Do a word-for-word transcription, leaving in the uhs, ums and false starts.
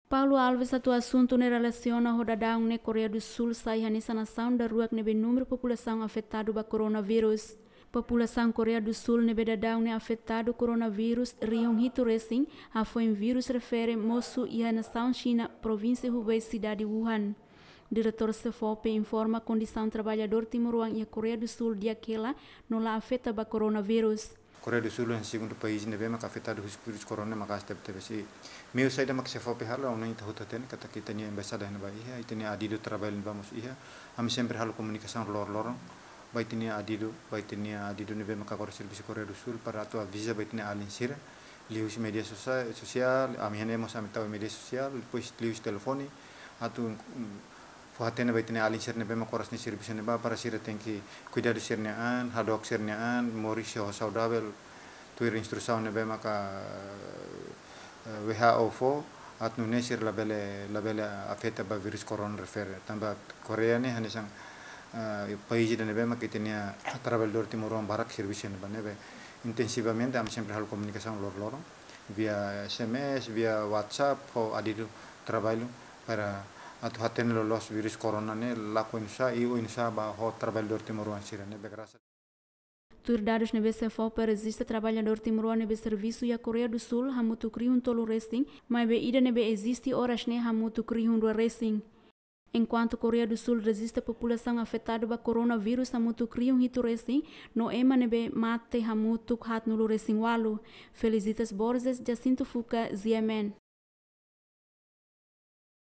Paulo Alves atu asuntu ne'e relasiona ho dadaun ne'e Koreia do Sul sai hanesan nasaun daruak ne'ebé númeru populasaun afetadu ba koronavírus. Populasaun Koreia do Sul ne'ebé dadaun ne'e afetadu koronavírus rihun hitu resin, hafoin vírus refere mosu iha nasaun Xina, provínsia Hubei, sidade Wuhan. Diretór SEFOPE informa kondisaun traballadór timoroan iha Koreia do Sul di'ak hela no la afeta ba koronavírus. Koreia do Sul hanesan segundu país ne'ebé maka afetadu husi vírus korona maka'as tebetebes. Meiu saida mak SEFOPE halo, ha'u hanoin ita hotu hatene katak ita-nia embaixada iha ne'ebá iha, ita-nia adidu traballu iha ne'ebá mós iha. Ami sempre halo komunikasaun loroloron ba ita-nia adidu, ba ita-nia adidu ne'ebé maka kora servisu Koreia do Sul para atu aviza ba ita-nia alin sira liuhusi média sosa-, sosiál, ami iha ne'e mós ami tau média sosiál, depois liuhusi telefone, atu, mm, fó hatene ba ita-nia alin sira ne'ebé mak kora nia servisu ne'ebá para sira tenke kuidadu sira-nia an, hadook sira-nia an, moris ho saudavel, tuir instrusaun ne'ebé maka, eh, W H O fó, atu nune'e sira labele, labele afeta ba vírus korona refere. Tanba Koreia ne'e hanesan, eh, país ida ne'ebé maka ita-nia traballadór timoroan barak servisu iha ne'ebá, ne'ebé intensivamente ami sempre halo komunikasaun loroloron via S M S, via WhatsApp, ho adidu traballu para atu hatene loloos vírus korona ne'e lakon oinsá i oinsá ba ho traballadór timoroan sira ne'ebé grasa. Tuir dadus ne'ebé SEFOPE rejista, traballadór timoroan ne'ebé servisu iha Koreia do Sul hamutuk rihun tolu resin, maibé ida ne'ebé eziste oras ne'e hamutuk rihun rua resin. Enkuantu Koreia do Sul rejista populasaun afetadu ba koronavírus hamutuk rihun hitu resin, no ema ne'ebé mate hamutuk haatnulu resin ualu. Felicitas Borges, Jacinto Fuca, G M N.